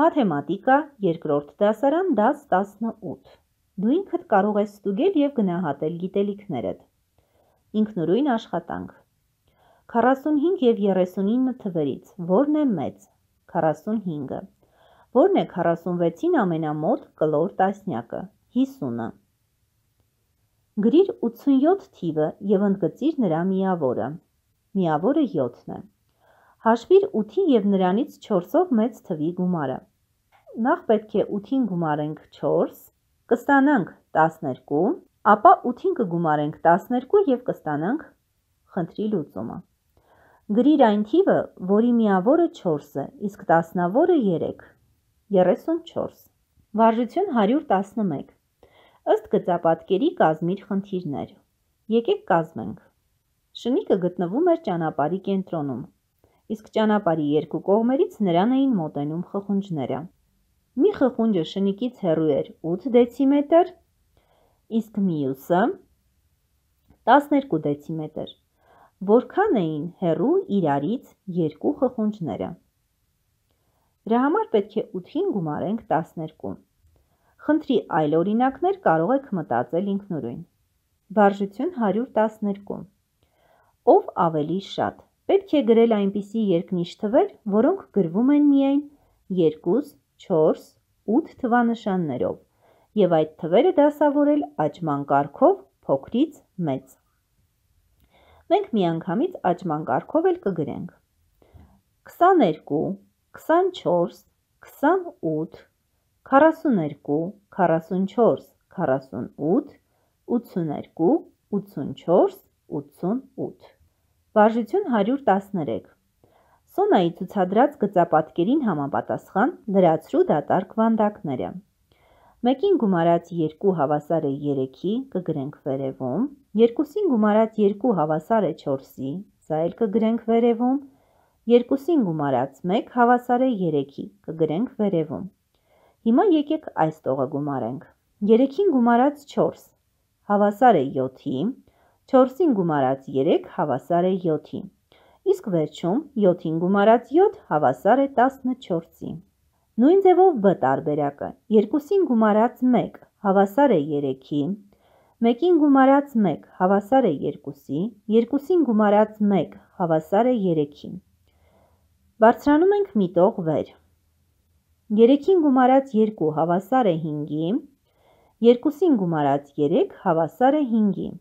Մաթեմատիկա, երկրորդ դասարան, դաս 18։ Դու ինքդ կարող ես ստուգել և գնահատել գիտելիքներդ։ Ինքնուրույն աշխատանք։ 45 և 39 թվերից որն է մեծ։ 45-ը։ Որն է 46-ին ամենամոտ կլոր տասնյակը։ 50-ը։ Գրիր 87 թիվը և ընդգծիր նրա միավորը։ Միավորը 7-ն է։ Հաշվիր 8-ի և նրանից 4-ով մեծ թվի գումարը։ Նախ պետք է 8-ին գումարենք 4, կստանանք 12, ապա 8-ին կգումարենք 12 և կստանանք խնդրի լուծումը։ Գրիր այն թիվը, որի միավորը 4 է, իսկ տասնավորը 3, 34։ Վարժություն 111։ Ըստ գծապատկերի կազմիր խնդիրներ։ Եկեք կազմենք։ Շնիկը գտնվում էր ճանապարհի կենտրոնում, իսկ ճանապարհի երկու կողմերից նրան էին մոտենում խխունջները։ Մի խխունջը շնիկից հեռու էր 8 դեցիմետր, իսկ մյուսը 12 դեցիմետր։ Որքան էին հեռու իրարից երկու խխունջները։ Դրա համար պետք է 8-ին գումարենք 12։ Խնդրի այլ օրինակներ կարող եք մտածել ինքնուրույն։ Վարժություն 112։ Ով ավելի շատ։ Պետք է գրել այնպիսի երկնիշ թվեր, որոնք գրվում են միայն 2, 4, 8 թվանշաններով և այդ թվերը դասավորել աճման կարգով փոքրից մեծ։ Մենք միանգամից աճման կարգով էլ կգրենք 22, 24, 28, 42, 44, 48, 82, 84, 88։ Վարժություն 113։ Սոնայի ցուցադրած գծապատկերին համապատասխան լրացրու դատարկ վանդակները։ 1-ին գումարած 2 հավասար է 3-ի, կգրենք վերևում, 2-ին գումարած 2 հավասար է 4-ի, սա էլ կգրենք վերևում, 2-ին գումարած 1 հավասար է 3-ի, կգրենք վերևում։ Հիմա եկեք այս տողը գումարենք։ 3-ին գումարած 4 հավասար է 7-ի, 4-ին գումարած 3 հավասար է 7-ի, իսկ վերջում 7-ին գումարած 7 հավասար է 14-ի։ Նույն ձևով B տարբերակը 2-ին գումարած 1 հավասար է 3-ի, 1-ին գումարած 1 հավասար է 2-ի, 2-ին գումարած 1 հավասար է 3-ի։ Բարձրանում ենք մի տող վեր։ 3-ին գումարած 2 հավասար է 5-ի, 2-ին գումարած 3 հավասար է 5-ի,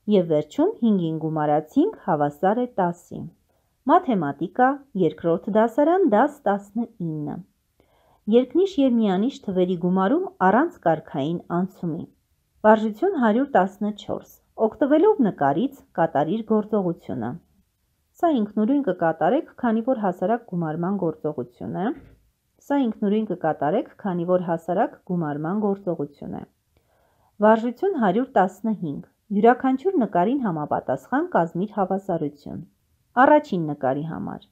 և վերջում 5-ին գումարած 5 հավասար է 10-ի։ Մաթեմատիկա, երկրորդ դասարան, դաս 19։ Երկնիշ և միանիշ թվերի գումարում առանց կարգային անցումի։ Վարժություն 114։ Օգտվելով նկարից կատարիր գործողությունը։ Սա ինքնուրույն կկատարեք, քանի որ հասարակ գումարման գործողություն է։ Սա ինքնուրույն կկատարեք, քանի որ հասարակ գումարման գործողություն է։ Վարժություն 115։ Յուրաքանչյուր նկարին համապատասխան կազմիր հավասարություն։ Առաջին նկարի համար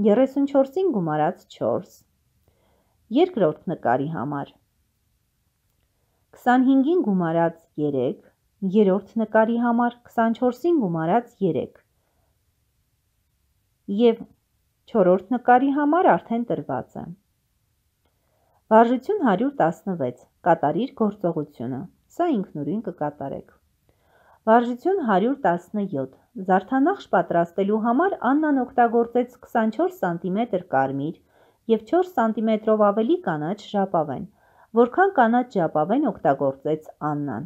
34-ին գումարած 4, երկրորդ նկարի համար 25-ին գումարած 3, երրորդ նկարի համար 24-ին գումարած 3 և չորրորդ նկարի համար արդեն տրված է։ Վարժություն 116։ Կատարիր գործողությունը։ Սա ինքնուրույն կկատարեք։ Վարժություն 117։ Զարդանախշ պատրաստելու համար Աննան օգտագործեց 24 սանտիմետր կարմիր և 4 սանտիմետրով ավելի կանաչ ժապավեն։ Որքան կանաչ ժապավեն օգտագործեց Աննան։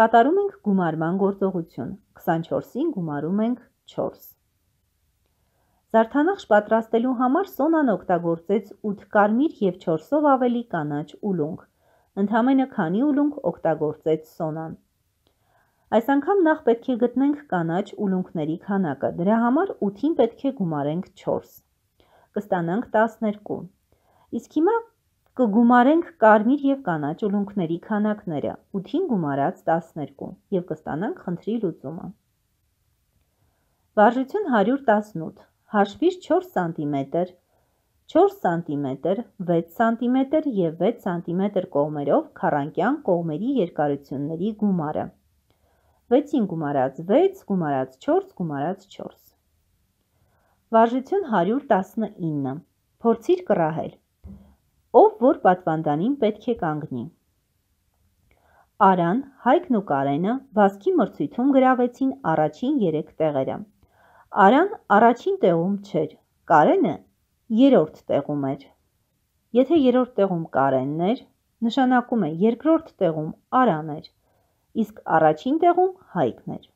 Կատարում ենք գումարման գործողություն։ 24-ին գումարում ենք 4։ Զարդանախշ պատրաստելու համար Սոնան օգտագործեց 8 կարմիր և 4-ով ավելի կանաչ ուլունք։ Ընդամենը քանի ուլունք օգտագործեց Սոնան։ Այս անգամ նախ պետք է գտնենք կանաչ ուլունքների քանակը, դրա համար 8-ին պետք է գումարենք 4, կստանանք 12, իսկ հիմա կգումարենք կարմիր և կանաչ ուլունքների քանակները, 8-ին գումարած 12 և կստանանք խնդրի լուծումը։ Վարժություն 118, հաշվիր 4 սանտիմետր, 4 սանտիմետր, 6 սանտիմետր և 6 սանտիմետր կողմերով քառանկյան կողմերի երկարությունների գումարը։ 6-ին գումարած 6, գումարած 4, գումարած 4։ Վարժություն 119։ Փորձիր կռահել։ Ով որ պատվանդանին պետք է կանգնի։ Արան, Հայկն ու Կարենը վազքի մրցույթում գրավեցին առաջին 3 տեղերը։ Արան առաջին տեղում չէր, Կարենը 3-րդ տեղում էր։ Եթե 3-րդ տեղում Կարենն էր, նշանակում է 2-րդ տեղում Արան էր, իսկ առաջին տեղում Հայկն էր։